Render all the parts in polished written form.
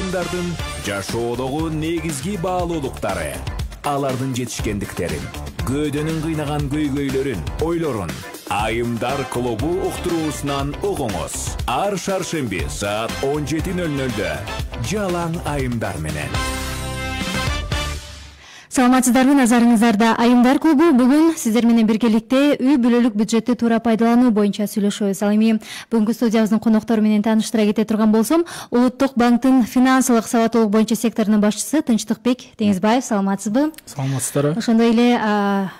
айымдардын жашоодогу негизги баалуулуктары, алардын жетишкендиктерин, көөдөнүн кыйнаган көйгөйлөрүн, ойлорун Айымдар клубу уктуруусунан угуңуз. Ар шаршемби саат 17:00-дө жалаң айымдар менен. Саламатсыздарбы, назарыңыздарда Айымдар клубу. Бүгүн сиздер менен биргеликте үй бүлөлүк бюджетти туура пайдалануу боюнча сүйлөшөбүз. Ал эми бүгүнкү студиябыздын коноктору менен тааныштыра кете турган болсом, Улуттук банктын финансылык сабаттуулук боюнча секторунун башчысы Тынчтыкбек Теңизбаев. Саламатсызбы? Саламатсыздарбы. Ошондой эле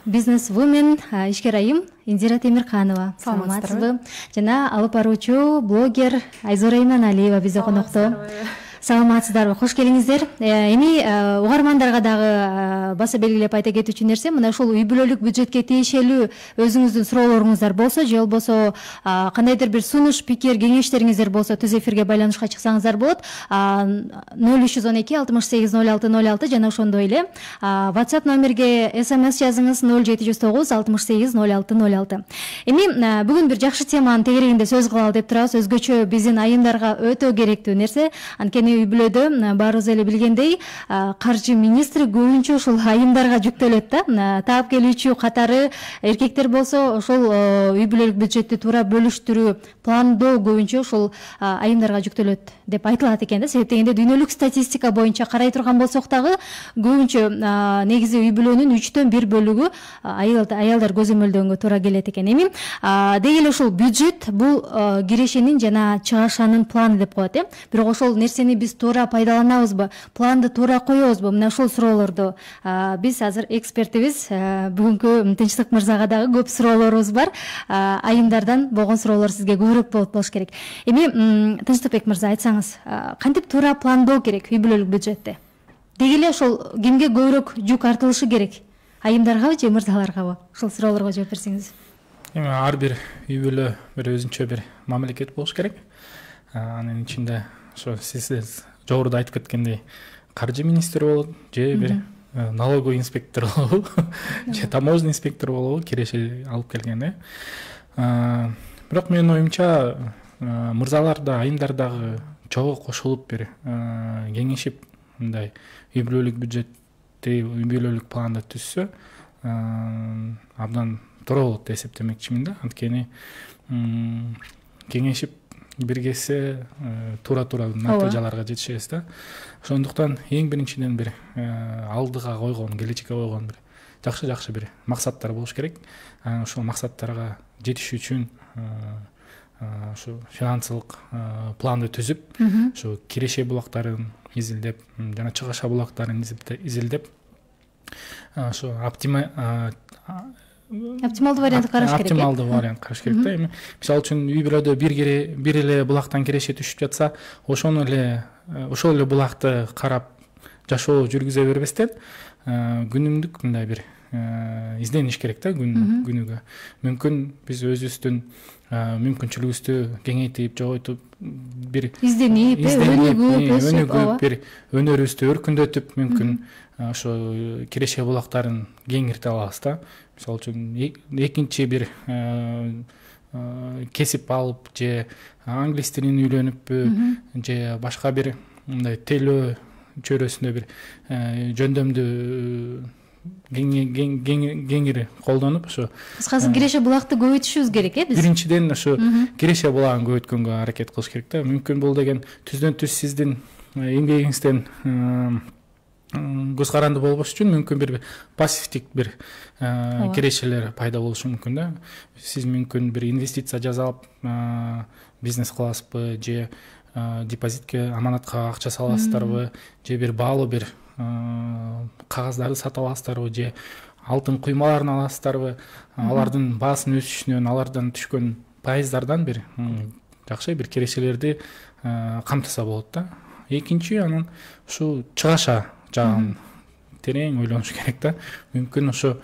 бизнес-вумен, ишкер айым Индира Темирканова. Саламатсызбы? Жана алып баруучу блогер Айзора Иманалиева бизде конокто. Саламатсыздарбы, кош келиңиздер. Эми угармандарга дагы баса белгилеп айта кетүүчү нерсе, мына ушул үй бүлөлүк бюджетке тиешелүү өзүңүздүн суроолоруңуздар болсо, же болбосо кандайдыр бир сунуш, пикир, кеңештериңиздер болсо, түз эфирге байланышка чыксаңыздар болот. 0312 68 06 06 жана ошондой эле WhatsApp номерге SMS жазыңыз 0709 68 06 06. Эми бүгүн бир жакшы теманын тегерегинде сөз кылалы деп турабыз. Өзгөчө биздин айымдарга өтө керектүү нерсе. Анткени үй бүлөдө баарыбыз эле билгендей, каржы министри көбүнчө ушул айымдарга жүктөлөт да. Таап келүүчү катары эркектер болсо, ошол үй бүлөлүк бюджетти туура бөлүштүрүү, пландоо көбүнчө ушул айымдарга жүктөлөт деп айтылат экен да. Себеп дегенде дүйнөлүк статистика боюнча карай турган болсок дагы көбүнчө негизи үй бүлөнүн 3/1 бөлүгү аялдар көзөмөлдөнгөнгө туура келет экен. Эми деги эле ушул бюджет бул кирешенин жана чыгашанын планы деп коет, бирок ошол нерсени биз туура пайдаланабызбы, планды туура коебузбу? Мына ушул суроолорду биз азыр экспертибиз бүгүнкү Тынчтык мырзага дагы көп суроолорубуз бар. Айымдардан болгон суроолор сизге көбүрөөк болуш керек. Эми Тынчтыкбек мырза, айтсаңыз, кантип туура пландоо керек үй бүлөлүк бюджетти? Деги эле ошол кимге көбүрөөк жүк артылышы керек? Айымдаргабы же мырзаларгабы? Ушул суроолорго жооп берсеңиз. Эми ар бир үй бүлө бир өзүнчө бир мамлекет болуш керек. Анын ичинде ошо сиз жогоруда айтып кеткендей каржы министри болот, же бир налоговый инспектор болобу, же таможенный инспектор болобу, киреше алып келген. Бирок менин оюмча мырзалар да, айымдар дагы чогуу кошулуп бир кеңешип мындай үй бүлөлүк бюджетти, үй бүлөлүк планды түзсө абдан туура болот деп эсептемекчимин да. Анткени кеңешип биргесе туура натыйжаларга жетишебиз да. Ошондуктан эң биринчиден бир алдыга койгон, келечекке койгон бир жакшы бир максаттар болуш керек. Ошол максаттарга жетиш үчүн ушу финансылык планды түзүп, ушу киреше булактарын изилдеп, жана чыгаша булактарын изилдеп, ушу оптималдуу вариантты караш керек. Оптималдуу вариант караш керек да. Эми мисалы үчүн үй бүлөдө бир эле булактан киреше түшүп жатса, ошол эле булакты карап жашоо жүргүзө бербестен күнүмдүк мындай бир издениш керек да күнүгө. Мүмкүн биз өзүбүздүн мүмкүнчүлүгүбүздү кеңейтип, жогойтуп, бир изденип, өнүгүп, бир өнөрүбүздү өркүндөтүп, мүмкүн ошо киреше булактарын кеңирте алабыз да. Мисалы үчүн экинчи бир кесип алып, же англис тилин үйлөнүппү, же башка бир мындай телөө чөйрөсүндө бир жөндөмдү кеңири колдонуп, ошо кыскасы киреше булакты көбөйтүшүбүз керек, биз. Биринчиден ошо киреше булагын көбөйткөнгө аракет кылыш керек да. Мүмкүн бул деген түздөн түз сиздин эмгегиңизден көз каранды болбош үчүн мүмкүн бир пассивдик бир кирешелер пайда болушу мүмкүн да. Сиз мүмкүн бир инвестиция жасап бизнес кыласызбы, же депозитке, аманатка акча саласыздарбы, же бир баалуу бир кагаздарды сатып аласыздарбы, же алтын куймаларын аласыздарбы, алардын баасынын өсүшүнөн, алардан түшкөн пайыздардан бир жакшы бир кирешелерди камтыса болот да. Экинчи, анан ушу чыгаша жагын терең ойлонуш керек да. Мүмкүн ушул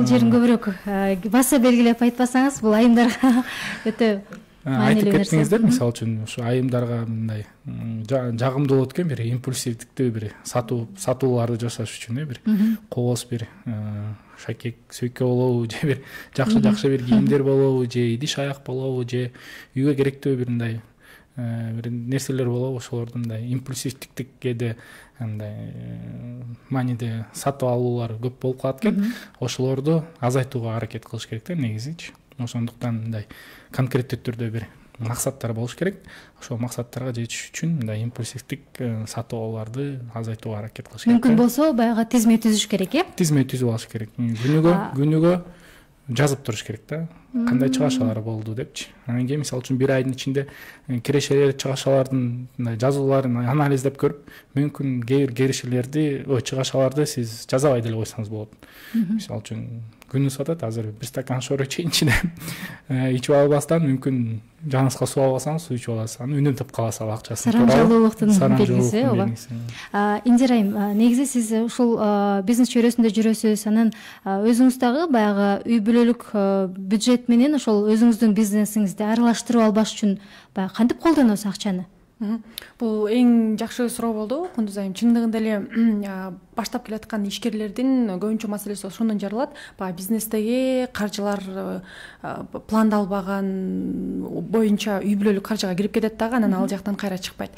жерин көбүрөөк баса белгилеп айтпасаңыз, бул айымдарга өтө айтып кеттиңиздер. Мисалы үчүн ушу айымдарга мындай жагымдуу болот экен, бир импульсивдиктүү бир сатууларды жасаш үчүн бир кооз бир шакек сөйкө болобу, же бир жакшы бир кийимдер болобу, же идиш аяк болобу, же үйгө керектүү бир мындай бир нерселер болобу, ошолорду мындай импульсивдикке кээде андай мааниде сатып алуулар көп болуп калат экен. Ошолорду азайтууга аракет кылыш керек да негизичи. Ошондуктан мындай конкреттүү түрдө бир максаттар болуш керек. Ошол максаттарга жетиш үчүн мындай импульсивдик сатып алууларды азайтууга аракет кылыш керек. Мүмкүн болсо баягы тизме түзүш керек, Тизме түзүп алыш керек. Күнүгө жазып туруш керек да. Кандай чыгашалар болду депчи. Анан кийин мисалы үчүн бир айдын ичинде кирешелер, чыгашалардын жазууларын анализдеп көрүп, мүмкүн кээ бир кирешелерди, чыгашаларды сиз жазабай деле койсоңуз болот. Мисалы үчүн күнү сатат, азыр бир стакан шор ичейинчи деп ичип албастан мүмкүн жаныңызга суу албасаңыз суу ичип аласыз, аны үнөмдөп каласыз ал акчасын. Сарамжалуулуктун белгиси, ооба. Индирайым, негизи сиз ушул бизнес чөйрөсүндө жүрөсүз, анан өзүңүз дагы баягы үй бүлөлүк бюджет менен ошол өзүңүздүн бизнесиңизди аралаштырып албаш үчүн баягы кантип колдоносуз акчаны? Бул эң жакшы суроо болду, Кундуз айым. Чындыгында эле баштап келаткан ишкерлердин көбүнчө маселеси ошондон жаралат. Баягы бизнестеги каржылар пландалбаган боюнча үй бүлөлүк каржыга кирип кетет дагы, анан ал жактан кайра чыкпайт.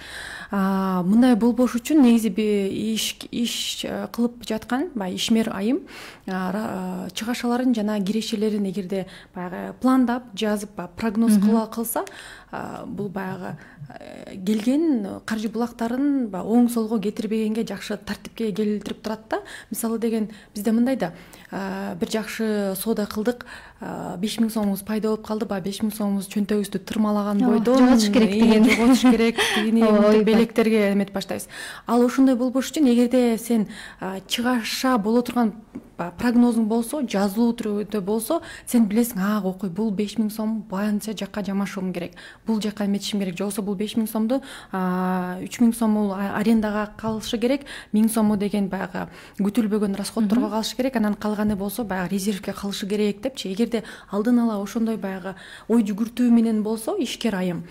Мындай болбош үчүн негизи иш кылып жаткан баягы ишмер айым чыгашаларын жана кирешелерин эгерде баягы пландап, жазып, прогноз кылса, бул баягы келген каржы булактарын оң солго кетирбегенге жакшы тартипке келтирип турат да. Мисалы деген бизде мындай да, бир жакшы соода кылдык, 5000 сомубуз пайда болуп калды, 5000 сомубуз чөнтөгүбүздү тырмалаган бойдон жоготуш керек деген, жоготуш керек дегени белектерге эметип баштайбыз. Ал ошондой болбош үчүн эгерде сен чыгаша боло турган прогнозуң болсо, жазылуу түрдө болсо, сен билесиң, окуй, бул 5000 сом баянча жакка жамашуум керек, бул жакка эметишим керек, жоксо бул 5000 сомду 3000 сому арендага калышы керек, 1000 сому деген баягы күтүлбөгөн расходторго калышы керек, анан калганы болсо баягы резервке калышы керек депчи. Эгерде алдын ала ошондой баягы ой жүгүртүү менен болсо, ишкер айым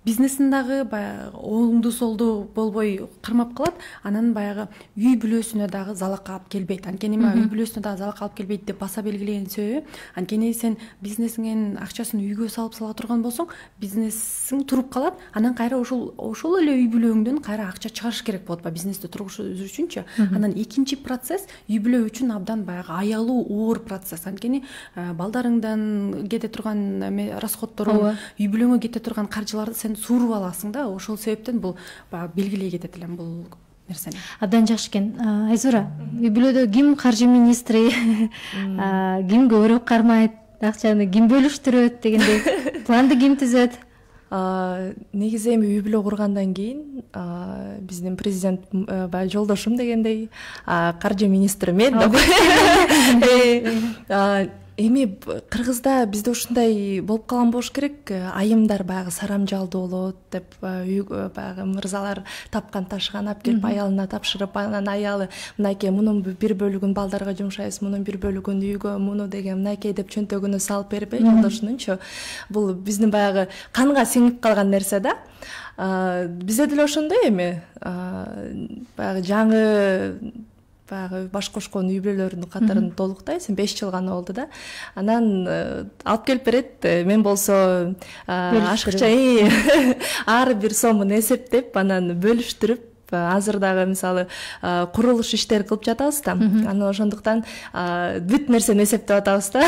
бизнесин дагы баягы оңду солду болбой кармап калат, анан баягы үй бүлөсүнө дагы залак алып келбейт. Анткени үй бүлөсүнө дагы залак алып келбейт деп баса белгилеген себеби, анткени сен бизнесиңдин акчасын үйгө салып сала турган болсоң, бизнесиң туруп калат, анан кайра ошол эле үй бүлөңдөн кайра акча чыгарыш керек болот бизнести тургузуш үчүнчү. Анан экинчи процесс үй бүлө үчүн абдан баягы аялуу, оор процесс. Анткени балдарыңдан кете турган расходторуң, үй бүлөңө кете турган каржыларды сен suurуп аласың да. Ошол себептен бул белгилей кетет элем бул нерсени. Абдан жакшы экен. Айзура, үй бүлөдө ким каржы министри, ким көбүрөөк кармайт, акчаны ким бөлүштүрөт дегендей, планды ким түзөт? Негизи эми үй бүлө кургандан кийин биздин президент баягы жолдошум дегендей каржы министри мен деп. Эми Кыргызда бизде ушундай болуп калган болуш керек, айымдар баягы сарамжалдуу болот деп баягы мырзалар тапкан ташыган алып келип аялына тапшырып, анан аялы мынакей мунун бир бөлүгүн балдарга жумшайбыз, мунун бир бөлүгүн үйгө, муну деген мынакей деп чөнтөгүнө салып бербей, жолдошунунчу. Бул биздин баягы канга сиңип калган нерсе да. Бизде деле ошондой эми баягы жаңы баягы баш кошкон үй бүлөлөрдүн катарын толуктайсың, 5 жыл гана болду да. Анан алып келип берет. Мен болсо ашыкча ар бир сомун эсептеп, анан бөлүштүрүп, азыр дагы мисалы курулуш иштери кылып жатабыз да. Анан ошондуктан бүт нерсени эсептеп атабыз да.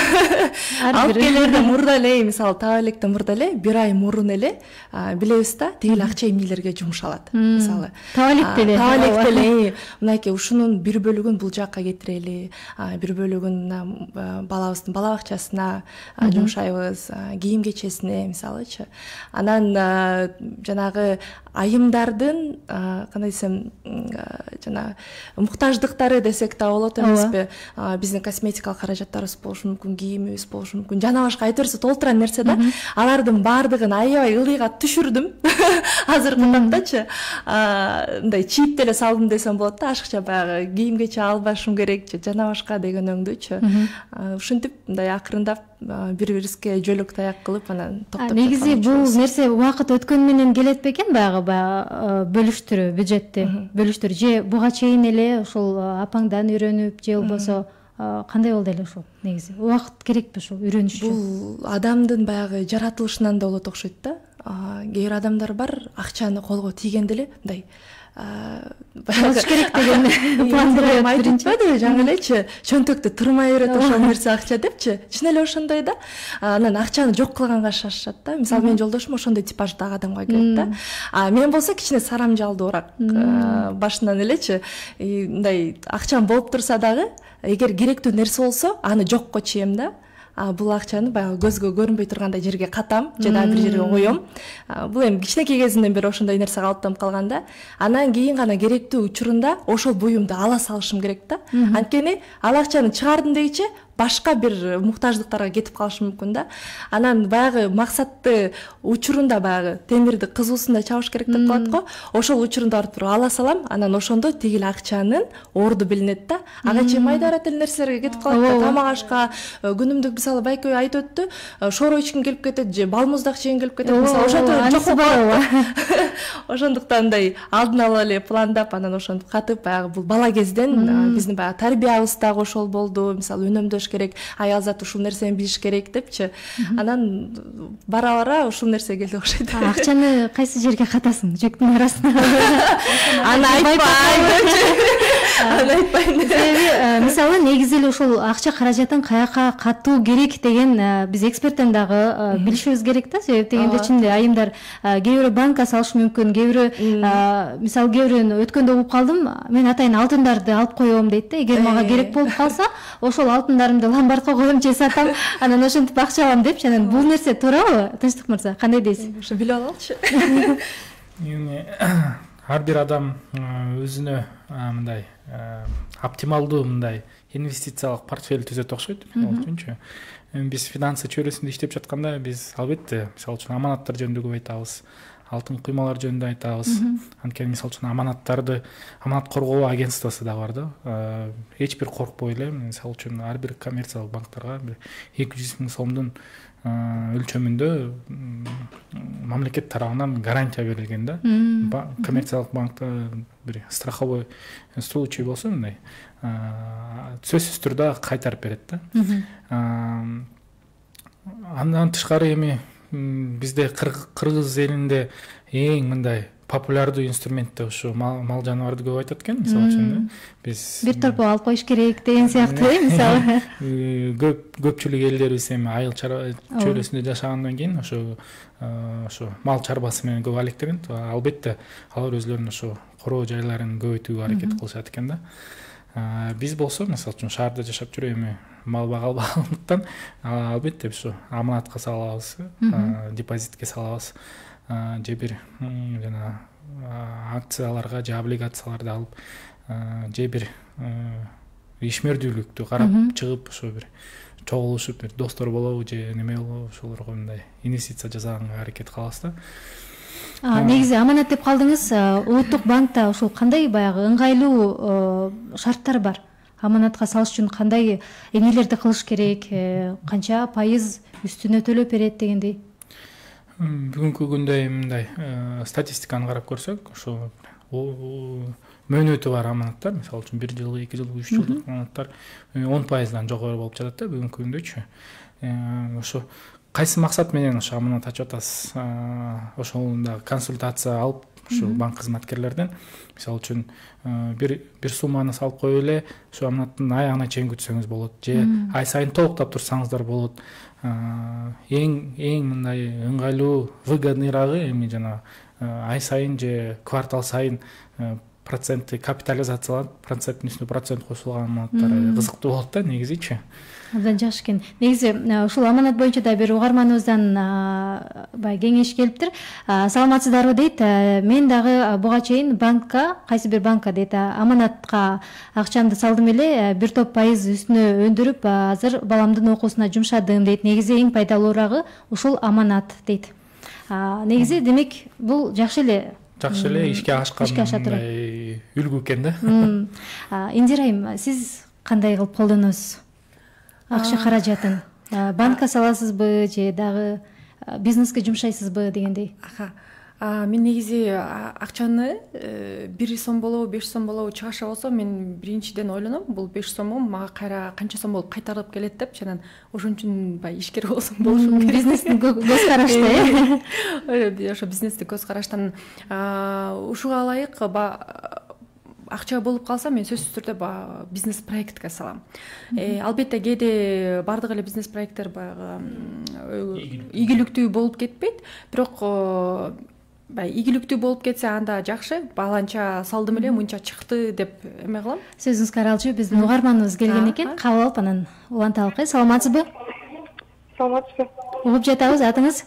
Алып келерде мурда эле, мисалы таба электе мурда эле, бир ай мурун эле билебиз да, тигил акча эмнелерге жумшалат. Мисалы таба электе эле мынакей ушунун бир бөлүгүн бул жакка кетирели, бир бөлүгүн балабыздын бала бакчасына жумшайбыз, кийим кечесине мисалычы. Анан жанагы айымдардын кандай десем жана муктаждыктары десек да болот эмеспи? Биздин косметикалык каражаттарыбыз болушу мүмкүн, кийимибиз болушу мүмкүн, жана башка айтерсе толтуран нерсе да. Алардын баардыгын аябай ылдыйга түшүрдүм азыркы тактачы. Мындай чийип деле салдым десем болот да, ашыкча баягы кийим кече албашым керек жана башка деген өңдүчү. Ушинтип мындай акырындап бири-бирибизге жөлөк таяк кылып анан токтоп. Негизи бул нерсе убакыт өткөн менен келет бекен, баягы бөлүштүрүү, бюджетти бөлүштүрүү, же буга чейин эле ошол апаңдан үйрөнүп, же болбосо кандай болду эле ушул? Негизи убакыт керекпи ушул үйрөнүш үчүн? Бул адамдын баягы жаратылышынан да болот окшойт да. кээ бир адамдар бар, акчаны колго тийгенде эле мындай болуш керек деген планды коет биринчи. Айтпайбы жаңы элечи чөнтөктө турмай берет ошол нерсе акча депчи. Чын эле ошондой да. Анан акчаны жок кылганга шашышат да. Мисалы менин жолдошум ошондой типаждагы адамга келет да. Мен болсо кичине сарамжалдуураак. Башынан элечи мындай акчам болуп турса дагы, эгер керектүү нерсе болсо, аны жокко чейем да. Бул акчаны баягы көзгө көрүнбөй тургандай жерге катам же дагы бир жерге коем. Бул эми кичинекей кезимден бери ошондой нерсе калыптанып калган да. Анан кийин гана керектүү учурунда ошол буюмду ала салышым керек да. Анткени ал акчаны чыгардым дегиче башка бир муктаждыктарга кетип калышы мүмкүн да. Анан баягы максатты учурунда баягы темирди кызуусунда чабыш керек деп коет го. Ошол учурунда барып туруп ала салам, анан ошондо тигил акчанын орду билинет да. Ага чейин майдара тил нерселерге кетип калат да. Тамак ашка, күнүмдүк мисалы байке айтып өттү, шоро ичким келип кетет же бал муздак жегим келип кетет. Мисалы ошентип жок болот. Ошондуктан мындай алдын ала эле пландап, анан ошентип катып баягы бул бала кезден биздин баягы тарбиябыз дагы ошол болду. Мисалы үнөмдөш керек, аял зат ушул нерсени билиш керек депчи. Анан бара ушул нерсе келди окшойт. Акчаны кайсы жерге катасың? Жөктүн арасына. Аны айтпайм. Себеби мисалы негизи эле ушул акча каражатын каяка катуу керек деген биз эксперттен дагы билишибиз керек да. Себеп дегенде чын эле айымдар кээ бирөө банкка салышы мүмкүн, кээ бирөө мисалы кээ бирөөнү өткөндө угуп калдым, мен атайын алтындарды алып коем дейт да. Эгер мага керек болуп калса, ошол алтындарымды ломбардка коем же сатам, анан ошентип акча алам депчи. Анан бул нерсе туурабы, Тынчтык мырза? Кандай дейсиз? Ошо билип алалычы. Эми ар бир адам өзүнө мындай оптималдуу мындай инвестициялык портфель түзөт окшойт. Ал үчүнчү биз финансы чөйрөсүндө иштеп жатканда биз албетте мисалы үчүн аманаттар жөнүндө көп айтабыз, алтын куймалар жөнүндө айтабыз. Анткени мисалы үчүн аманат коргоо агентствосу да бар да. Эч бир коркпой эле мисалы үчүн ар бир коммерциялык банктарга бир 200 000 сомдун өлчөмүндө мамлекет тарабынан гарантия берилген да. Коммерциялык банкта бир страховой случай болсо мындай сөзсүз түрдө кайтарып берет да. Андан тышкары эми бизде кыргыз элинде эң мындай популярдуу инструмент ушу мал жаныбарды көп айтат экен. Мисалы үчүн биз бир торпо алып коюш керек деген сыяктуу мисалы. Көпчүлүк элдерибиз эми айыл чөйрөсүндө жашагандан кийин ошо мал чарбасы менен көп алектенет. Албетте алар өзлөрүнүн ошо короо жайларын көбөйтүүгө аракет кылышат экен да. Биз болсо мисалы үчүн шаарда жашап жүрүп эми мал бага албагандыктан албетте ушу аманатка салабыз, депозитке салабыз, же бир жана акцияларга же облигацияларды алып, же бир ишмердүүлүктү карап чыгып ошо бир чогулушуп бир достор болобу же неме болобу ошолорго мындай инвестиция жасаганга аракет кылабыз да. Негизи аманат деп калдыңыз. Улуттук банкта ушул кандай баягы ыңгайлуу шарттар бар? Аманатка салыш үчүн кандай эмнелерди кылыш керек, канча пайыз үстүнө төлөп берет дегендей? Бүгүнкү күндө мындай статистиканы карап көрсөк, ошо мөөнөтү бар аманаттар, мисалы үчүн 1 жылдык, 2 жылдык, 3 жылдык аманаттар 10%дан жогору болуп жатат да бүгүнкү күндөчү. Ошо кайсы максат менен ошо аманат ачып атасыз? Ошондо консультация алып, ошо банк кызматкерлерден мисалы үчүн бир сумманы салып коюп эле ошо аманаттын аягына чейин күтсөңүз болот, же ай сайын толуктап турсаңыздар болот. Эң мындай ыңгайлуу, выгодныйрагы эми жана ай сайын же квартал сайын проценти капитализацияланып, проценттин үстүнө процент кошулган аманаттар кызыктуу болот да негизичи. Абдан жакшы экен. Негизи ушул аманат боюнча да бир угарманыбыздан бай кеңеш келиптир. Саламатсыздарбы дейт. Мен дагы буга чейин банкка, кайсы бир банкка дейт, аманатка акчамды салдым эле, бир топ пайыз үстүнө өндүрүп, азыр баламдын окуусуна жумшадым дейт. Негизи эң пайдалуурагы ушул аманат дейт. Негизи демек бул жакшы эле ишке ашкан үлгү экен да. Индира айым, сиз кандай кылып колдоносуз акча каражатын? Банкка саласызбы же дагы бизнеске жумшайсызбы дегендей? Мен негизи акчаны 1 сом болобу 5 сом болобу чыгаша болсо мен биринчиден ойлоном, бул 5 сому мага кайра канча сом болуп кайтарылып келет деп, жанан ошон үчүн баягы ишкер болсом болушум керек. Бизнестин көз карашты ошо бизнестик көз караштан ушуга ылайык акча болуп калса мен сөзсүз түрдө баягы бизнес проектке салам. Албетте кээде бардык эле бизнес проекттер баягы ийгиликтүү болуп кетпейт, бирок ийгиликтүү болуп кетсе анда жакшы, баланча салдым эле мынча чыкты деп эме кылам. Сөзүңүзгө каралчу, биздин угарманыбыз келген экен, кабыл алып анан уланталык. Саламатсызбы? Саламатсызбы. Угуп жатабыз, атыңыз?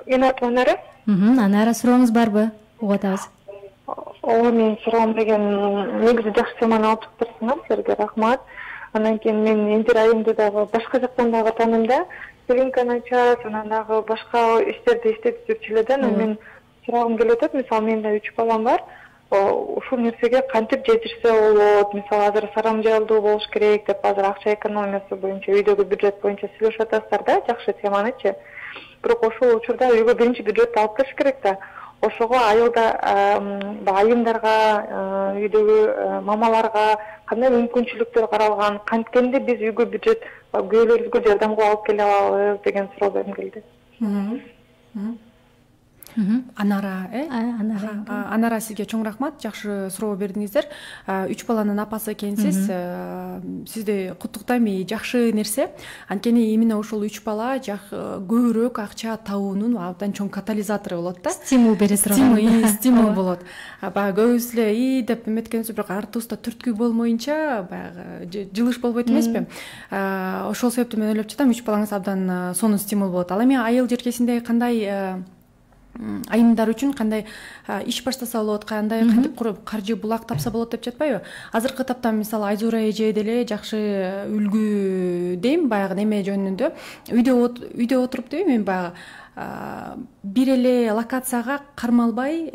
Менин атым Анара. Анара, сурооңуз барбы? Угуп атабыз. Менин суроом деген негизи жакшы теманы алып чыктырсыңар, силерге рахмат. Андан кийин мен Эндир айымды дагы башка жактан дагы тааныйм да. Клиниканы ачат, анан дагы башка иштерди иштетип жүрчү эле да. Мен суроогум келип атат, мисалы менин да 3 балам бар. Ушул нерсеге кантип жетишсе болот? Мисалы азыр сарамжайлуу болуш керек деп азыр акча экономиясы боюнча, үйдөгү бюджет боюнча сүйлөшүп атасыздар да, жакшы теманычы. Бирок ошол учурда үйгө биринчи бюджетти алып келиш керек да. Ошого айымдарга, үйдөгү мамаларга кандай мүмкүнчүлүктөр каралган, канткенде биз үйгө бюджет күйөөлөрүбүзгө жардам кылып алып келе алабыз деген суроо берим келди. Анара, Анара, сизге чоң рахмат, жакшы суроо бердиңиздер. 3 баланын апасы экенсиз. Сизди куттуктайм, жакшы нерсе. Анткени именно ошол 3 бала көбүрөөк акча табуунун абдан чоң катализатору болот да. Стимул бере турган. Стимул болот. Баягы көбүбүз эле деп эметкенбиз, бирок артыбызда түрткү болмоюнча баягы жылыш болбойт эмеспи? Ошол себептен мен ойлоп жатам, 3 балаңыз абдан сонун стимул болот. Ал эми айыл жеркесинде кандай айымдар үчүн кандай иш баштаса болот, кантип куруп каржы булак тапса болот деп жатпайбы? Азыркы тапта мисалы Айзура эже деле жакшы үлгү дейм, баягы неме жөнүндө. Үйдө отуруп дейм, мен баягы бир эле локацияга кармалбай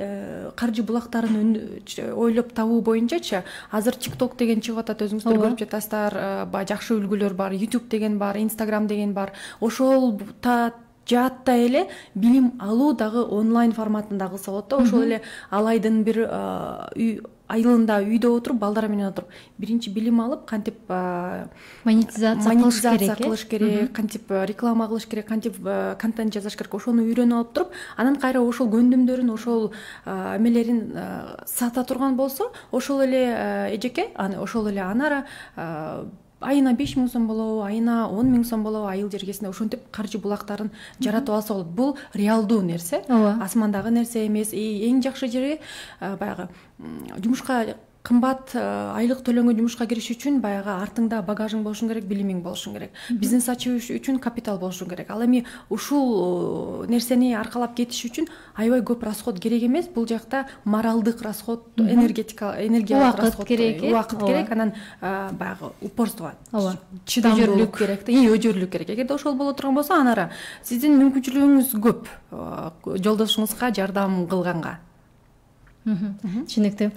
каржы булактарын ойлоп табуу боюнчачы азыр TikTok деген чыгып атат, өзүңүздөр көрүп жатасыздар, жакшы үлгүлөр бар, YouTube деген бар, Instagram деген бар. Ошол жаатта эле билим алуу дагы онлайн форматында кылса болот да. Ошол эле ал айдын бир айылында үйдө отуруп, балдары менен отуруп, биринчи билим алып, кантип монетизация кылыш керек, кантип реклама кылыш керек, кантип контент жазыш керек, ошону үйрөнүп алып туруп, анан кайра ошол көндүмдөрүн, ошол эмелерин сата турган болсо, ошол эле эжеке, ошол эле Анара айына 5 000 сом болобу, айына 10 000 сом болобу, айыл жергесинде ошентип каржы булактарын жаратып алса болот. Бул реалдуу нерсе, асмандагы нерсе эмес. Эң жакшы жери баягы жумушка кымбат айлык төлөнгөн жумушка кириш үчүн баягы артыңда багажың болушун керек, билимиң болушун керек. Бизнес ачыш үчүн капитал болушун керек. Ал эми ушул нерсени аркалап кетиш үчүн аябай көп расход керек эмес. Бул жакта моралдык расход, энергиялык расход керек, убакыт керек, анан баягы упорство, чыдамдуулук керек, өжөрлүк керек. Эгерде ошол боло турган болсо, Анара, сиздин мүмкүнчүлүгүңүз көп жолдошуңузга жардам кылганга. Түшүнүктүү.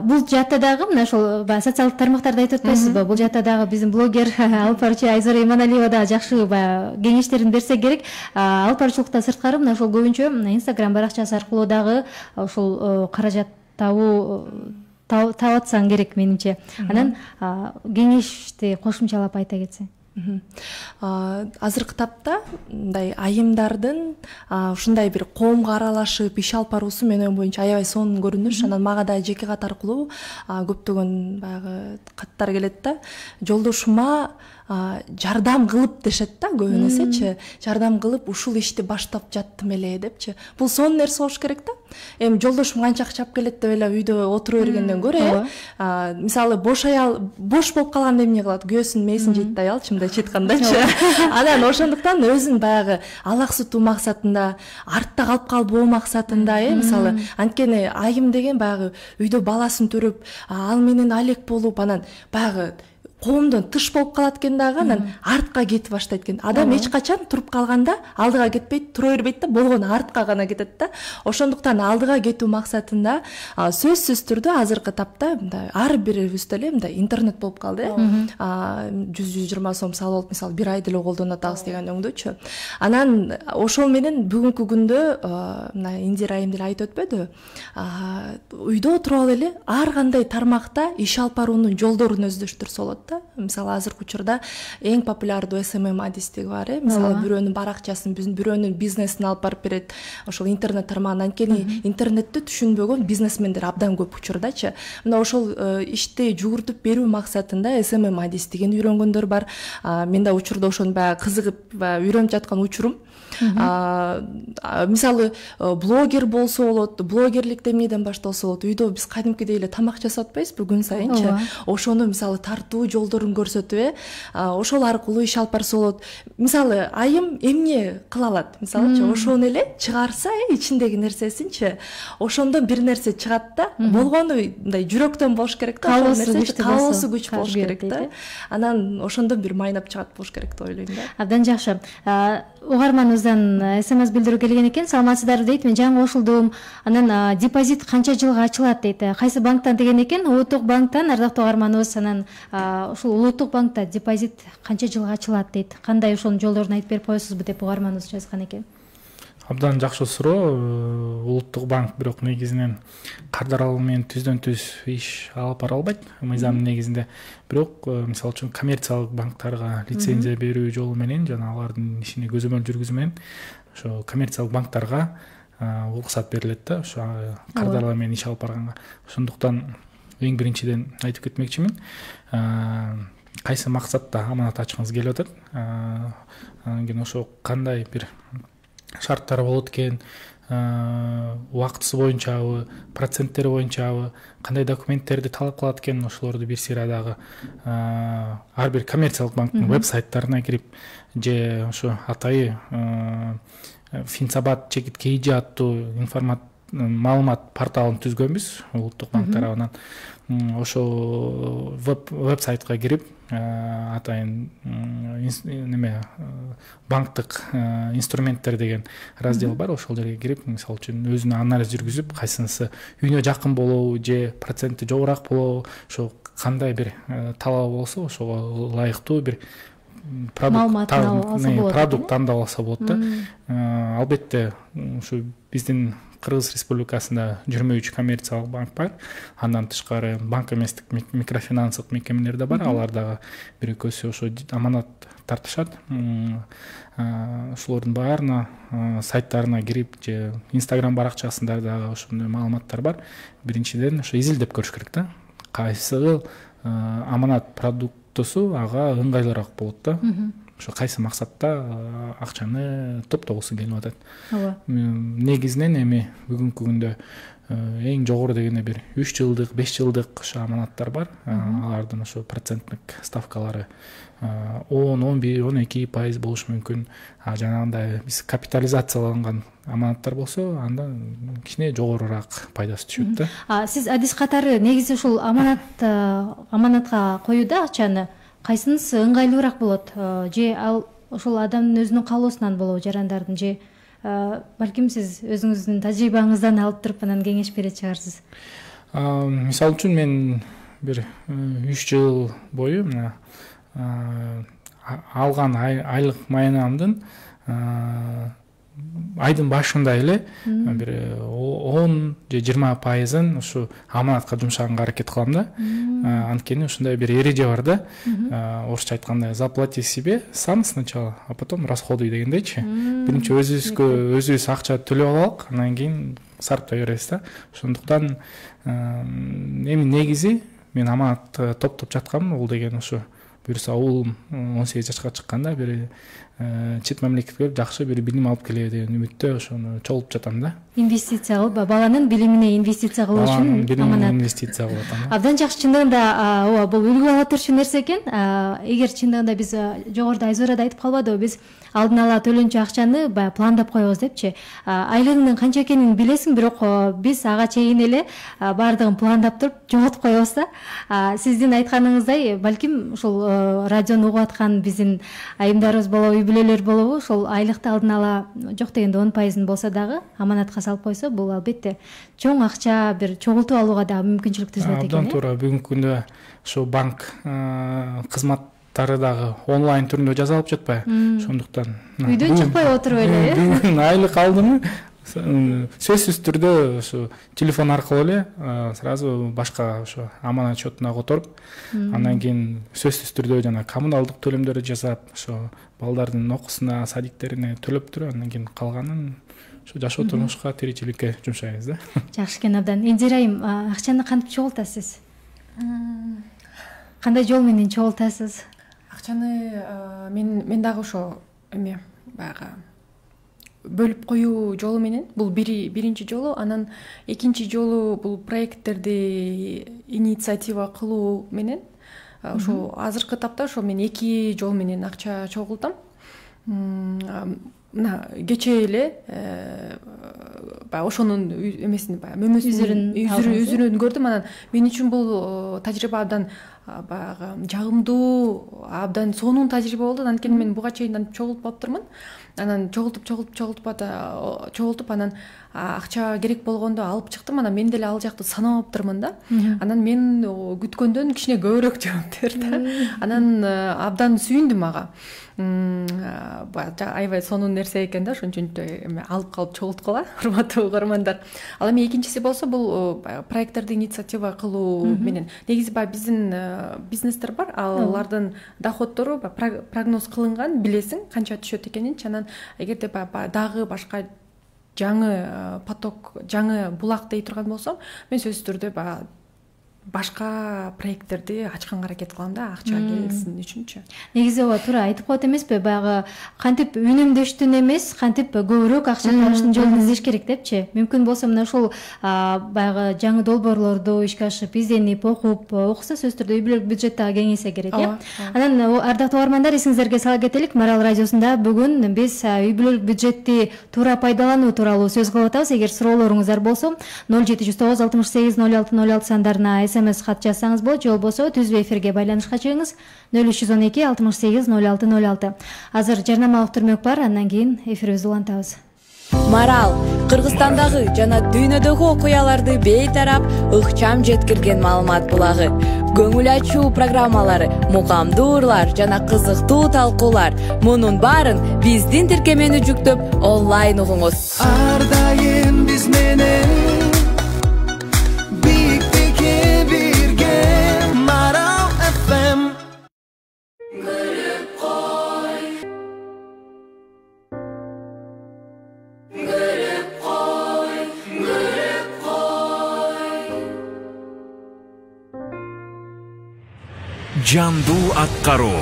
Бул жаатта дагы мына ошол социалдык тармактарда айтып атпайсызбы? Бул жаатта дагы биздин блогер алып баруучу Айзура Иманалиева да жакшы кеңештерин берсе керек. Алып баруучулукта сырткары мына ошол көбүнчө Instagram баракчасы аркылуу дагы ошол каражат таап атсаң керек менимче. Анан кеңешти кошумчалап айта кетсең. Азыркы тапта мындай айымдардын ушундай бир коомго аралашып иш алып баруусу менин оюм боюнча аябай сонун көрүнүш. Анан мага да жеке кат аркылуу көптөгөн баягы каттар келет да. Жолдошума жардам кылып дешет да, көбүн эсечи. Жардам кылып ушул ишти баштап жаттым эле депчи. Бул сонун нерсе болуш керек да. Эми жолдошум канча акча алып келет деп эле үйдө отура бергенден көрө, мисалы бош болуп калганда эмне кылат? Күйөөсүнүн мээсин жейт да аял, чындап айткандачы. Анан ошондуктан өзүн баягы алаксытуу максатында, артта калып калбоо максатында, мисалы, анткени айым деген баягы үйдө баласын төрөп, ал менен алек болуп, анан баягы коомдон тыш болуп калат экен дагы, анан артка кетип баштайт экен. Адам эч качан туруп калганда алдыга кетпейт, тура бербейт да, болгону артка гана кетет да. Ошондуктан алдыга кетүү максатында сөзсүз түрдө азыркы тапта мындай ар бирибизде эле мындай интернет болуп калды. 100-120 сом салып алып, мисалы, бир ай деле колдонуп атабыз деген өңдөчү. Анан ошол менен бүгүнкү күндө мына Индира айым деле айтып өтпөдү, үйдө отуруп эле ар кандай тармакта иш алып баруунун жолдорун өздөштүрсө болот да. Мисалы, азыркы учурда эң популярдуу SMM адистиги бар, мисалы, бирөөнүн баракчасын, бирөөнүн бизнесин алып барып берет ошол интернет тармагынан. Анткени интернетти түшүнбөгөн бизнесмендер абдан көп учурдачы. Мына ошол ишти жугуртуп берүү максатында SMM адистигин үйрөнгөндөр бар. Мен да учурда ошону баягы кызыгып үйрөнүп жаткан учурум. Мисалы, блогер болсо болот, блогерлик эмнеден башталса болот. Үйдө биз кадимкидей эле тамак жасап атпайбызбы күн сайынчы? Ошону мисалы тартуу жолдорун көрсөтүп, ошол аркылуу иш алып барса болот. Мисалы, айым эмне кыла алат? Мисалычы, ошону эле чыгарса, ичиндеги нерсесинчи, ошондон бир нерсе чыгат да. Болгону мындай жүрөктөн болуш керек да, ошол нерсе каалоосу күч болуш керек да. Анан ошондон бир майнап чыгат болуш керек деп ойлойм да. Абдан жакшы. Угарманыбыздан СМС билдирүү келген экен. Саламатсыздарбы дейт. Мен жаңы кошулдум. Анан депозит канча жылга ачылат дейт. Кайсы банктан деген экен? Улуттук банктан, ардактуу угарманыбыз. Анан ушул Улуттук банкта депозит канча жылга ачылат дейт. Кандай ошонун жолдорун айтып берип коесузбу деп угарманыбыз жазган экен. Абдан жакшы суроо. Улуттук банк бирок негизинен кардарал менен түздөн-түз иш алып бара албайт мыйзамдын негизинде. Бирок мисалы үчүн коммерциялык банктарга лицензия берүү жолу менен жана алардын ишине көзөмөл жүргүзүү менен ошо коммерциялык банктарга уруксат берилет да, ошо кардарал менен иш алып барганга. Ошондуктан эң биринчиден айтып кетмекчимин, кайсы максатта аманат ачкыңыз келип атат, анан кийин ошо кандай бир шарттары болот экен, убактысы боюнчабы, проценттери боюнчабы, кандай документтерди талап кылат экен, ошолорду бир сыйра дагы ар бир коммерциялык банктын веб-сайттарына кирип, же ошо атайы Финсабат чекит KG аттуу маалымат порталын түзгөнбүз улуттук банк тарабынан. Ошо веб-сайтка кирип, атайын банктык инструменттер деген раздел бар, ошол жерге кирип, мисалы үчүн өзүнө анализ жүргүзүп, кайсынысы үйүнө жакын болобу же проценти жогорак болобу, ошо кандай бир талабы болсо ошого ылайыктуу бир продукт тандап алса болот да. Албетте ушу биздин Кыргыз Республикасында 23 коммерциялык банк бар. Андан тышкары банк эместик микрофинансылык мекемелер да бар. Алар дагы бир экөөсү ошо аманат тартышат. Ошолордун баарына сайттарына кирип же Instagram баракчасында дагы ошондой маалыматтар бар. Биринчиден ошо изилдеп көрүш керек да. Кайсы аманат продуктусу ага ыңгайлуураак болот да. Ошо кайсы максатта акчаны топтогусу келип атат. Негизинен эми бүгүнкү күндө эң жогору дегенде бир 3 жылдык, 5 жылдык ошо аманаттар бар. Алардын ошо проценттик ставкалары 10-11-12% болушу мүмкүн. Жанагындай биз капитализацияланган аманаттар болсо, анда кичине жогорураак пайдасы түшөт да. Сиз адис катары негизи ушул аманатка коюуда акчаны кайсынысы ыңгайлуураак болот? Же ал ошол адамдын өзүнүн каалоосунан болобу, жарандардын, же балким сиз өзүңүздүн тажрыйбаңыздан алып туруп анан кеңеш берет чыгарсыз? Мисалы үчүн мен бир 3 жыл бою алган айлык маянамдын айдын башында эле бир 10 же 20% ушу аманатка жумшаганга аракет кылам да. Анткени ушундай бир эреже бар да. Орусча айтканда заплати себе сам сначала, а потом расходуй дегендейчи. Биринчи өзүбүз акча төлөп алалык, анан кийин сарптай беребиз да. Ошондуктан эми негизи мен аманат топтоп жаткам, ол деген ушу буюрса уулум 18 жашка чыкканда бир чет мамлекетке жакшы бир билим алып келеби деген үмүттө ошону чогултуп жатам да. Инвестиция кылып, баланын билимине инвестиция кылуу үчүн аманат. Инвестиция кылып атам. Абдан жакшы, чындыгында ооба бул үлгү ала турчу нерсе экен. Эгер чындыгында биз жогоруда Айзора да айтып калбадыбы, биз алдын ала төлөнчү акчаны баягы пландап коебуз депчи. Айлыгынын канча экенин билесиң, бирок биз ага чейин эле баардыгын пландап туруп жоготуп коебуз да. Сиздин айтканыңыздай, балким ушул радиону угуп аткан биздин айымдарыбыз болобу, үй бүлөлөр болобу, ошол айлыкты алдын ала жок дегенде 10% болсо дагы аманатка салып койсо, бул албетте чоң акча бир чогултуп алууга дагы мүмкүнчүлүк түзүлөт экен. Абдан туура. Бүгүнкү күндө ошо банк кызматтары дагы онлайн түрүндө жасалып жатпайбы? Ошондуктан үйдөн чыкпай отуруп эле айлык алдымы, сөзсүз түрдө ошо телефон аркылуу эле сразу башка ошо аманат счетуна которуп, андан кийин сөзсүз түрдө жана коммуналдык төлөмдөрдү жасап, ошо балдардын окуусуна, садиктерине төлөп туруп, андан кийин калганын ошо жашоо турмушка, тиричиликке жумшайбыз да. Жакшы экен абдан. Эндир айым, акчаны кантип чогултасыз? Кандай жол менен чогултасыз? Акчаны мен дагы ошо баягы бөлүп коюу жолу менен, бул биринчи жолу, анан экинчи жолу бул проекттерди инициатива кылуу менен. Ошо азыркы тапта ошо мен эки жол менен акча чогултам. Мына кечээ эле баягы ошонун эмесин, баягы үзүрүн көрдүм. Анан мен үчүн бул тажрыйба абдан баягы жагымдуу, абдан сонун тажрыйба болду. Анткени мен буга чейин чогултуп алыптырмын. Анан чогултуп анан акча керек болгондо алып чыктым. Анан мен деле ал жакты санабаптырмын да. Анан мен күткөндөн кичине көбүрөөк жооп берди. Анан абдан сүйүндүм ага. Аябай сонун нерсе экен да, ошон үчүн алып калып чогулткула, урматтуу угармандар. Ал эми экинчиси болсо бул проекттерди инициатива кылуу менен. Негизи баягы биздин бизнестер бар, алардын доходдору прогноз кылынган, билесиң канча түшөт экенинчи. Анан эгерде дагы башка жаңы поток, жаңы булак дей турган болсом, мен сөзсүз түрдө баягы башка проекттерди ачканга аракет кылам да, акча келсин үчүнчү. Негизи ооба туура айтып коет эмеспи, баягы кантип үнөмдөштүн эмес, кантип көбүрөөк акча табыштын жолун издеш керек депчи. Мүмкүн болсо мына ушул баягы жаңы долбоорлорду ишке ашырып, изденип, окуп, окуса сөзсүз түрдө үй бүлөлүк бюджет дагы кеңейсе керек, э. Анан ардактуу угармандар, эсиңиздерге сала кетелик, Марал радиосунда бүгүн биз үй бүлөлүк бюджетти туура пайдалануу тууралуу сөз кылып атабыз. Эгер суроолоруңуздар болсо 0709 68 06 06 сандарына СМС хат жазсаңыз болот, же болбосо түздүү эфирге байланышка чыгыңыз 0312 68 06 06. Азыр жарнамалык түрмөк бар, андан кийин эфирибизди улантабыз. Марал Кыргызстандагы жана дүйнөдөгү окуяларды бейтарап, ыкчам жеткирген маалымат булагы. Көңүл ачуу программалары, мукамдуу ырлар жана кызыктуу талкуулар. Мунун баарын биздин тиркемени жүктөп онлайн угуңуз. Ар дайым биз менен Жандуу аткаруу,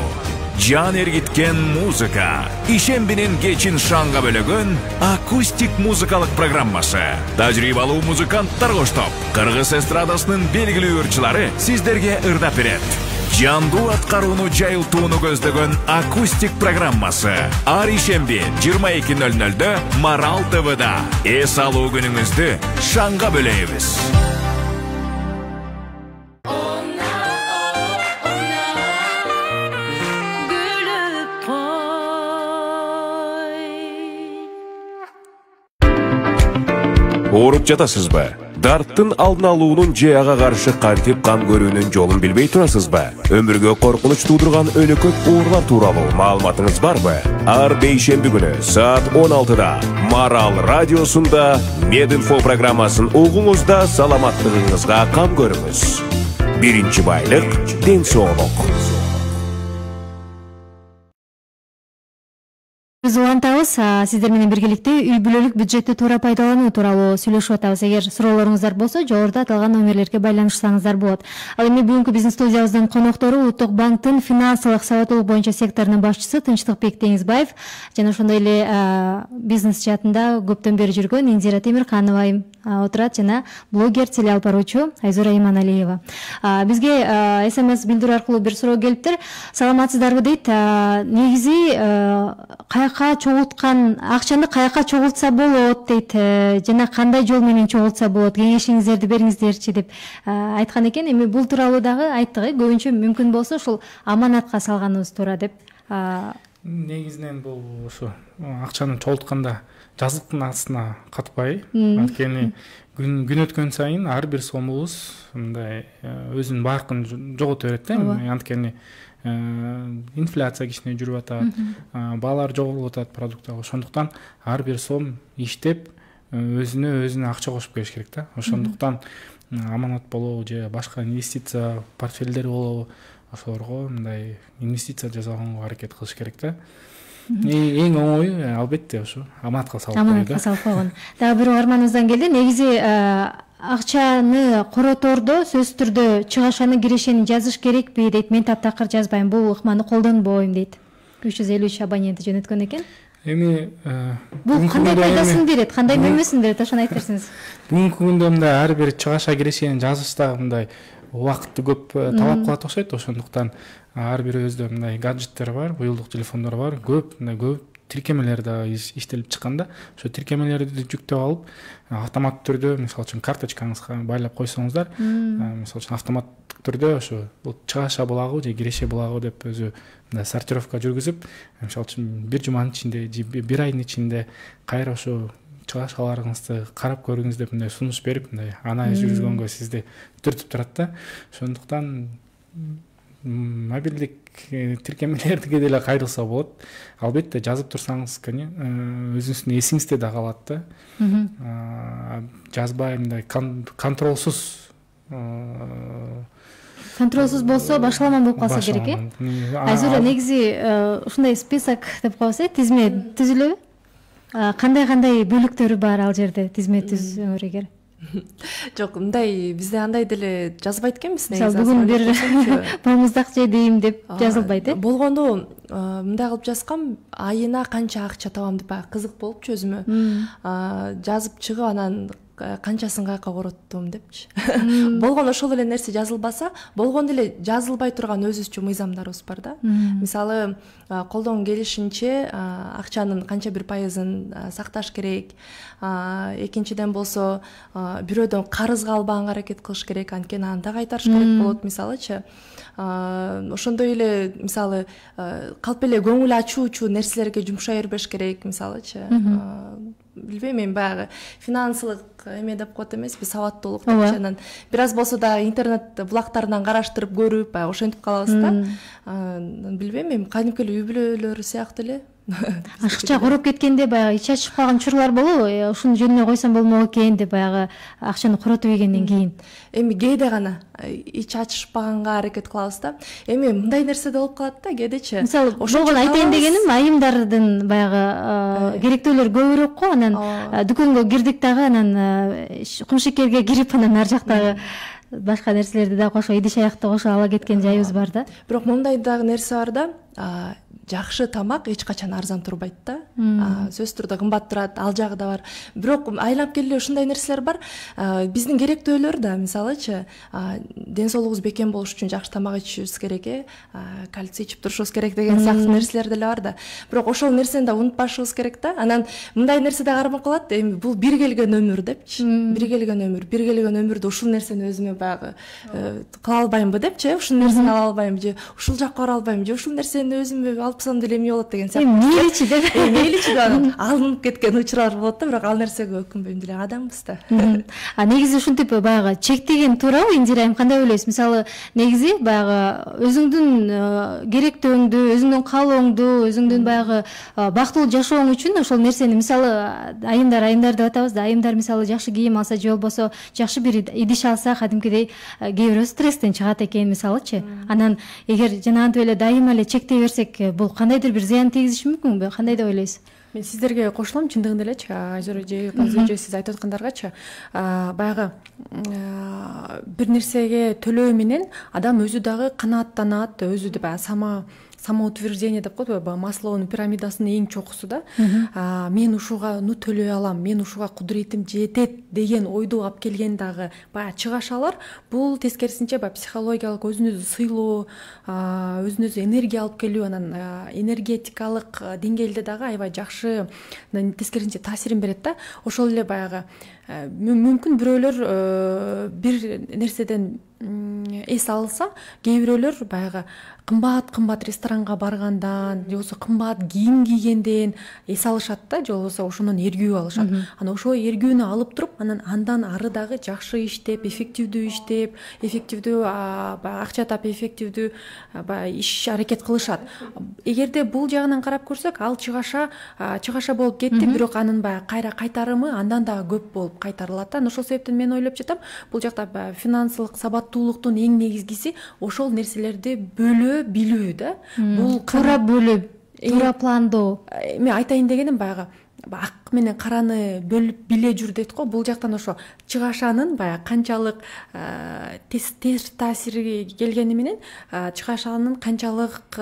жан эргиткен музыка, ишембинин кечин шаңга бөлөгөн акустик музыкалык программасы. Тажрыйбалуу музыканттар коштоп, кыргыз эстрадасынын белгилүү ырчылары сиздерге ырдап берет. Жандуу аткарууну жайылтууну көздөгөн акустик программасы ар ишемби 22:00 Марал ТВда. Эс алуу күнүңүздү шаңга бөлөйбүз. Ооруп жатасызбы? Дарттын алдын алуунун же ага каршы кантип кам көрүүнүн жолун билбей турасызбы? Өмүргө коркунуч туудурган өлөкөт оорулар тууралуу маалыматыңыз барбы? Ар бейшемби күнү саат 16-да Марал радиосунда Мединфо программасын угуңузда саламаттыгыңызга кам көрүңүз. Биринчи байлык ден соолук. Биз улантабыз, сиздер менен биргеликте үй бүлөлүк бюджетти туура пайдалануу тууралуу сүйлөшүп атабыз. Эгер суроолоруңуздар болсо, жогоруда аталган номерлерге байланышсаңыздар болот. Ал эми бүгүнкү биздин студиябыздын коноктору Улуттук банктын финансылык сабаттуулук боюнча секторунун башчысы Тынчтыкбек Теңизбаев жана ошондой эле бизнес чатында көптөн бери жүргөн Индира Темирханова отурат жана блогер, телеалпаруучу Айзура Иманалиева. Бизге СМС билдирүү аркылуу бир суроо келиптир. Саламатсыздарбы дейт. Негизи каяка чогулткан акчаны каяка чогултса болот дейт, жана кандай жол менен чогултса болот, кеңешиңиздерди бериңиздерчи деп айткан экен. Эми бул тууралуу дагы айттык, көбүнчө мүмкүн болсо ушул аманатка салганыбыз туура деп. Негизинен бул ушу акчаны чогултканда жазыктын астына катпай, анткени күн өткөн сайын ар бир сомубуз мындай өзүнүн баркын жогото берет да. Анткени инфляция кичине жүрүп атат, баалар жоголуп атат продукттагы. Ошондуктан ар бир сом иштеп өзүнө акча кошуп келиш керек да. Ошондуктан аманат болобу же башка инвестиция портфелдери болобу, ошолорго мындай инвестиция жасаганга аракет кылыш керек да. Эң оңою албетте ушу аманатка салып койгон. Аманатка салып койгон. Дагы бир угарманыбыздан келди. Негизи акчаны коротордо сөзсүз түрдө чыгашаны кирешени жазыш керекпи дейт. Мен таптакыр жазбайм, бул ыкманы колдонбойм дейт. 353 абоненти жөнөткөн экен. Эми бул кандай пайдасын берет, кандай мөмөсүн берет, ошону айтып берсеңиз. Бүгүнкү күндө мындай ар бир чыгаша кирешени жазышта мындай убакытты көп талап кылат окшойт. Ошондуктан ар бирибизде мындай гаджеттер бар, буюлдук телефондор бар, көп тиркемелер да иштелип чыккан да. Ошо тиркемелерди жүктөп алып, автоматтык түрдө, мисалы үчүн карточкаңызга байлап койсоңуздар, мисалы үчүн автоматтык түрдө ошо чыгаша булагы же киреше булагы деп өзү мындай сортировка жүргүзүп, мисалы үчүн бир жуманын ичинде же бир айдын ичинде кайра ошо чыгашаларыңызды карап көрүңүз деп мындай сунуш берип, мындай анализ жүргүзгөнгө сизди түртүп турат да. Ошондуктан мобилдик тиркемелерге деле кайрылса болот. Албетте жазып турсаңыз, өзүңүздүн эсиңизде да калат да. Жазбай мындай контролсуз болсо башаламан болуп калса керек э. Айзура, негизи ушундай список деп коебуз, тизме түзүлөбү? Кандай бөлүктөрү бар ал жерде тизме түзүңөр эгер? Жок, мындай бизде андай деле жазбайт экенбиз. Мисалы бүгүн бир балмуздак жедим деп жазылбайт э? Болгондо мындай кылып жазгам, айына канча акча табам деп кызык болупчу өзүмө. Жазып чыгып анан канчасын каяка короттум депчи. Болгондо ошол эле нерсе жазылбаса, болгондо эле жазылбай турган өзүбүзчө мыйзамдарыбыз бар да. Мисалы, колдон келишинче акчанын канча бир пайызын сакташ керек. Экинчиден болсо, бирөөдөн карызга албаганга аракет кылыш керек, анткени анда кайтарыш керек болот, мисалычы. Ошондой эле, мисалы, калп эле көңүл ачуучу нерселерге жумшай бербеш керек, мисалычы. Билбейм, мен баягы финансылык эме деп коет эмеспи, сабаттуулук депчи, анан бир аз болсо да интернет булактарынан караштырып көрүп, баягы ошентип калабыз да. Билбейм, мен кадимки эле үй бүлөлөр сыяктуу эле. Ашыкча короп кеткенде баягы ич ачышып калган учурлар болобу? Ушуну жөнүнө койсом болмок экен деп баягы акчаны коротуп ийгенден кийин. Эми кээде гана ич ачышпаганга аракет кылабыз да. Эми мындай нерсе да болуп калат да, кээдечи. Мисалы, ошону айтайын дегеним, айымдардын баягы керектөөлөр көбүрөөк го, анан дүкөнгө кирдик дагы, анан кумшекерге кирип, анан ар жактагы башка нерселерди да кошо, идиш аякты кошо ала кеткен жайыбыз бар да. Бирок мындай дагы нерсе бар да, жакшы тамак эч качан арзан турбайт да. Сөзсүз түрдө кымбат турат, ал жагы да бар. Бирок айланып келе ушундай нерселер бар. Биздин керектөөлөр да, мисалычы, ден соолугубуз бекем болуш үчүн жакшы тамак ичишибиз керек, кальций ичип турушубуз керек деген сыяктуу нерселер деле бар да. Бирок ошол нерсени да унутпашыбыз керек да. Анан мындай нерсе да кармап калат, эми бул бир келген өмүр депчи. Бир келген өмүрдө ушул нерсени өзүмө баягы кыла албаймбы депчи, ушул нерсени ала албайм же ушул жакка бара албайм же ушул нерсени өзүмө алсам деле эмне болот деген сыяктуу. Мейличи деп. Мейличи деп алынып кеткен учурлар болот да, бирок ал нерсеге өкүнбөйм деле, адамбыз да. Негизи ушинтип баягы чектеген туурабы, Индира айым, кандай ойлойсуз? Мисалы, негизи баягы өзүңдүн керектөөңдү, өзүңдүн каалооңду, өзүңдүн баягы бактылуу жашооң үчүн ошол нерсени, мисалы, айымдар деп атабыз да, айымдар мисалы жакшы кийим алса же болбосо жакшы бир идиш алса, кадимкидей кээ бирөө стресстен чыгат экен, мисалычы. Анан эгер жанагынтип эле дайыма эле чектей берсек бул кандайдыр бир зыян тийгизиши мүмкүнбү, кандай деп ойлойсуз? Мен сиздерге кошулам, чындыгында элечи, Айзора эже, Казы эже сиз айтып аткандаргачы, баягы бир нерсеге төлөө менен адам өзү дагы канааттанат, өзү да баягы самоутверждение деп коет, баягы Маслоунун пирамидасынын эң чокусу да. Мен ушуга төлөй алам, мен ушуга кудуретим жетет деген ойду алып келген дагы баягы чыгашалар, бул тескерисинче баягы психологиялык өзүнүзү сыйлоо, өзүнүзү энергия алып келүү, анан энергетикалык деңгээлде дагы аябай жакшы, тескерисинче таасирин берет да. Ошол эле баягы мүмкүн бирөөлөр бир нерседен эс алса, кээ бирөөлөр баягы кымбат ресторанга баргандан, же болбосо кымбат кийим кийгенден эс алышат да, же болбосо ошондон эргүү алышат. Анан ошол эргүүнү алып туруп, андан ары дагы жакшы иштеп, эффективдүү акча тап, эффективдүү иш аракет кылышат. Эгерде бул жагынан карап көрсөк, ал чыгаша болуп кетти, бирок анын баягы кайра кайтарымы андан дагы көп болуп кайтарылат да. Ошол себептен мен ойлоп жатам, бул жакта финансылык сабаттуулуктун эң негизгиси ошол нерселерди бөлөө билүү да. Бул туура бөлүп, туура пландоо. Мен айтайын дегеним баягы ак менен караны бөлүп биле жүр дейт го. Бул жактан ошо чыгашанын баягы канчалык терс таасири келгени менен чыгашанын канчалык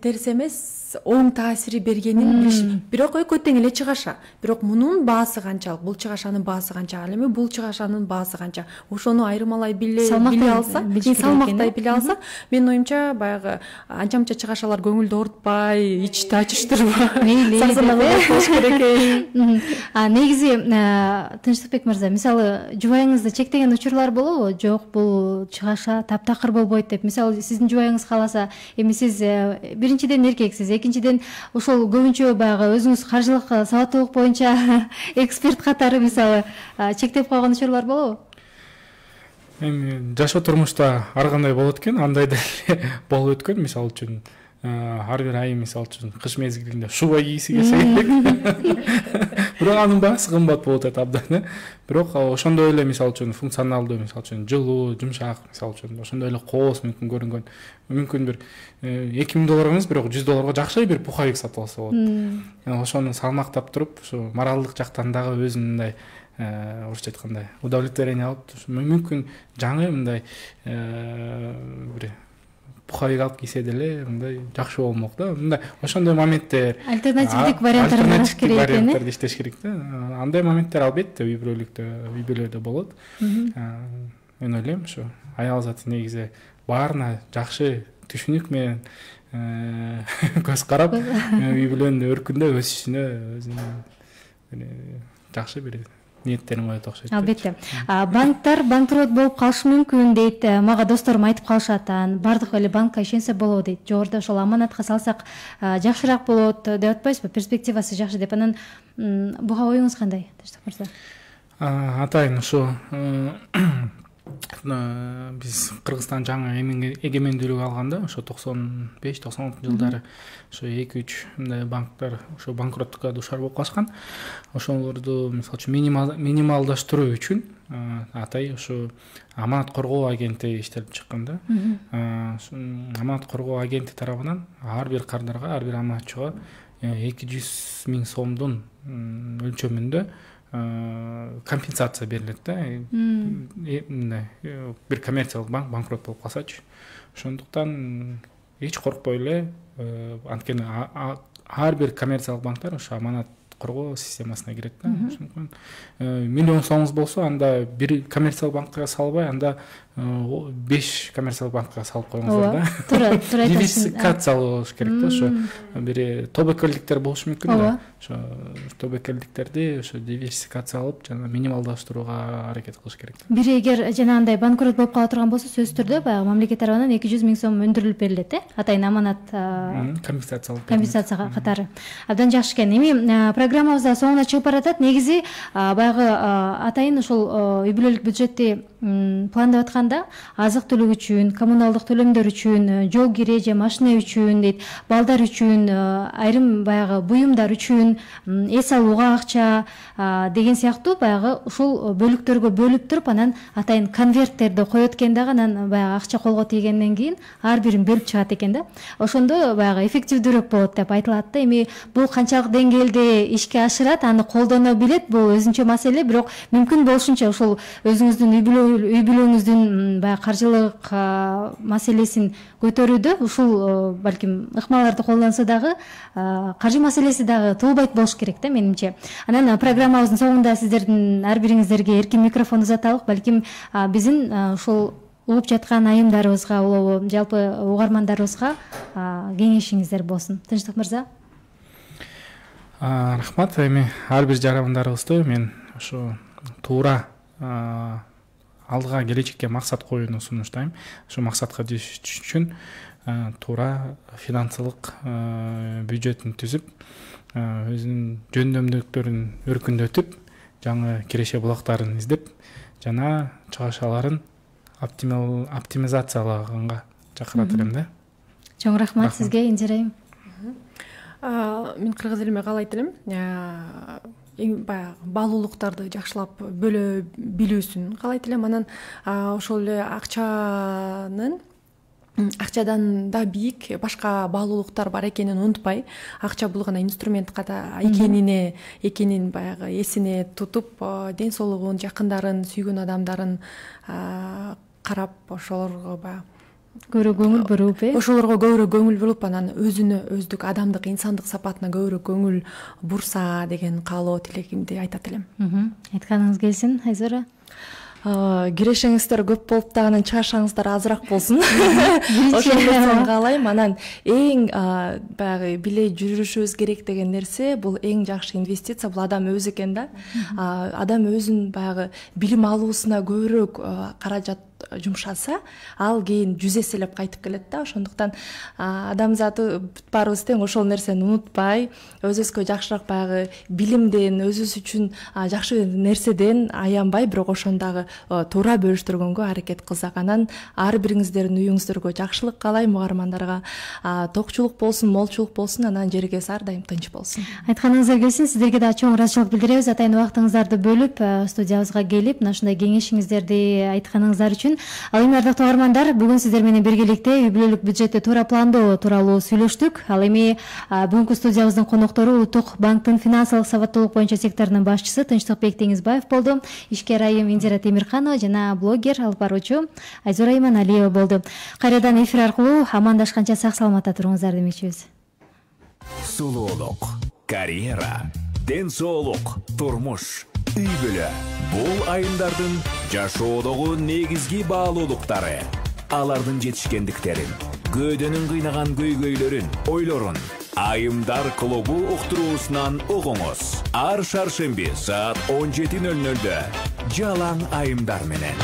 терс эмес, оң таасири бергенин билиш. Бирок экөө тең эле чыгаша. Бирок мунун баасы канчалык, бул чыгашанын баасы канча, ал эми бул чыгашанын баасы канча. Ошону айырмалай биле алса, салмактай биле алса, менин оюмча баягы анча-мынча чыгашалар көңүлдү оорутпай, ичти ачыштырбай, болуш керек. Негизи Тынчтыкбек мырза, мисалы жубайыңызды чектеген учурлар болобу? Жок, бул чыгаша таптакыр болбойт деп. Мисалы сиздин жубайыңыз кааласа, эми сиз биринчиден эркексиз, экинчиден ошол көбүнчө баягы өзүңүз каржылык сабаттуулук боюнча эксперт катары мисалы чектеп койгон учурлар болобу? Эми жашоо турмушта ар кандай болот экен, андай деле болуп өткөн. Мисалы үчүн ар бир айы мисалы үчүн кыш мезгилинде шуба кийиси келсе керек. Бирок анын баасы кымбат болуп атат абдан. Бирок ошондой эле мисалы үчүн функционалдуу, мисалы үчүн жылуу, жумшак, мисалы үчүн ошондой эле кооз мүмкүн көрүнгөн. Мүмкүн бир $2000 эмес, бирок $100 жакшы бир пуховик сатып алса болот. Ошону салмактап туруп, ушу моралдык жактан дагы өзүн мындай орусча айткандай удовлетворение алып, мүмкүн жаңы мындай бир пуховик алып кийсе деле мындай жакшы болмок да. Мындай ошондой моменттер, альтернативдик варианттарды караш керек экен. Варианттарды иштеш керек да. Андай моменттер албетте үй бүлөлөрдө болот. Мен ойлойм, ушу аял заты негизи баарына жакшы түшүнүк менен көз карап, үй бүлөнүн өркүндө өсүшүнө өзүнүн жакшы бир ниеттерин коет окшойт. Албетте. Банктар банкрот болуп калышы мүмкүн дейт. Мага досторум айтып калышат, бардык эле банкка ишенсе болот дейт. Жогоруда ошол аманатка салсак жакшыраак болот деп атпайсызбы? Перспективасы жакшы деп. Анан буга оюңуз кандай, Тынчтык мырза? Атайын ушу биз Кыргызстан жаңы эгемендүүлүк алганда, ошо 95-96 жылдары ошо 2-3 мындай банктар ошо банкроттукка дуушар болуп калышкан. Ошолорду мисалы үчүн минималдаштыруу үчүн атай ошо аманат коргоо агенти иштелип чыккан да. Аманат коргоо агенти тарабынан ар бир кардарга, ар бир аманатчыга 200 000 сомдун өлчөмүндө компенсация берилет да. Бир коммерциялык банк банкрот болуп калсачы. Ошондуктан эч коркпой эле, анткени ар бир коммерциялык банктар ошо аманат коргоо системасына кирет да. Ошондуктан миллион сомуңуз болсо, анда бир коммерциялык банкка салбай, анда 5 коммерциялык банкка салып коюңуздар да. Туура диверсификациялоо болуш керек да. Ошо бир тобокелдиктер болушу мүмкүн да. Ошо тобокелдиктерди ошо диверсификациялап жана минималдаштырууга аракет кылыш керек. Бири эгер жанагындай банкрот болуп кала турган болсо, сөзсүз түрдө баягы мамлекет тарабынан 200 000 сом өндүрүлүп берилет, атайын аманат компенсация катары. Абдан жакшы экен. Эми программабыз да соңуна чыгып баратат. Негизи баягы атайын ошол үй бүлөлүк бюджетти пландап атканда азык түлүк үчүн, коммуналдык төлөмдөр үчүн, жол кире же машина үчүн дейт, балдар үчүн, айрым баягы буюмдар үчүн, эс алууга акча деген сыяктуу баягы ушул бөлүктөргө бөлүп туруп, анан атайын конверттерди коет экен дагы, анан баягы акча колго тийгенден кийин ар бирин бөлүп чыгат экен да. Ошондо баягы эффективдүүрөөк болот деп айтылат да. Эми бул канчалык деңгээлде ишке ашырат, аны колдоно билет, бул өзүнчө маселе, бирок мүмкүн болушунча ушул өзүңүздүн үй бүлөңүздүн баягы каржылык маселесин көтөрүүдө ушул балким ыкмаларды колдонсо дагы каржы маселеси дагы туулбайт болуш керек да менимче. Анан программабыздын соңунда сиздердин ар бириңиздерге эркин микрофон узаталык. Балким биздин ушул угуп жаткан айымдарыбызга, улуу жалпы угармандарыбызга кеңешиңиздер болсун. Тынчтык мырза. Рахмат. Эми ар бир жарандарыбызды мен ошо туура алдыга келечекке максат коюуну сунуштайм. Ошо максатка жетиш үчүн туура финансылык бюджетин түзүп, өзүнүн жөндөмдүүлүктөрүн өркүндөтүп, жаңы киреше булактарын издеп, жана чыгашаларын оптимизациялаганга чакырат элем да. Чоң рахмат сизге, Индира айым. Мен кыргыз элиме каалайт элем. Эң баягы баалуулуктарды жакшылап бөлө билүүсүн каалайт элем. Анан ошол эле акчадан да бийик башка баалуулуктар бар экенин унутпай, акча бул гана инструмент экенин баягы эсине тутуп, ден соолугун, жакындарын, сүйгөн адамдарын карап, ошолорго баягы көбүрөөк көңүл буруп, ошолорго көбүрөөк көңүл буруп, анан өздүк адамдык, инсандык сапатына көбүрөөк көңүл бурса деген каалоо тилегимди айтат элем. Айтканыңыз келсин, Айзора. Кирешеңиздер көп болуп да анан чыгашаңыздар азыраак болсун. Ошондон каалайм. Анан эң баягы биле жүрүшүбүз керек деген нерсе бул эң жакшы инвестиция, бул адам өзү экен да. Адам өзүн баягы билим алуусуна көбүрөөк каражат жумшаса, ал кийин 100 эселеп кайтып келет да. Ошондуктан адамзаты баарыбыз тең, ошол нерсени унутпай, өзүбүзгө жакшыраак баягы билимден, өзүбүз үчүн жакшы нерседен аянбай, бирок ошондагы туура бөлүштүргөнгө аракет кылсак, анан ар бириңиздердин үйүңүздөргө жакшылык каалайм, угармандарга токчулук болсун, молчулук болсун, анан жерибиз ар дайым тынч болсун. Айтканыңызга келсин, сиздерге да чоң ыраазычылык билдиребиз. Атайын убактыңыздарды бөлүп студиябызга келип, мына ушундай кеңешиңиздерди айтканыңыздар үчүн. Ал эми ардактуу угармандар, бүгүн сиздер менен биргеликте үй бүлөлүк бюджетти туура пландоо тууралуу сүйлөштүк. Ал эми бүгүнкү студиябыздын коноктору Улуттук банктын финансылык сабаттуулук боюнча секторунун башчысы Тынчтыкбек Теңизбаев болду. Ишкер айым Индира Темирханова жана блогер, алып баруучу Айзора Иманалиева болду. Кайрадан эфир аркылуу амандашканча сак саламатта туруңуздар демекчибиз. Сулуулук, карьера, ден соолук, турмуш, үй бүлө. Бул айымдардын жашоодогу негизги баалуулуктары. Алардын жетишкендиктерин, көөдөнүн кыйнаган көйгөйлөрүн, ойлорун Айымдар клубу уктуруусунан угуңуз. Ар шаршемби саат 17:00-дө жалаң айымдар менен.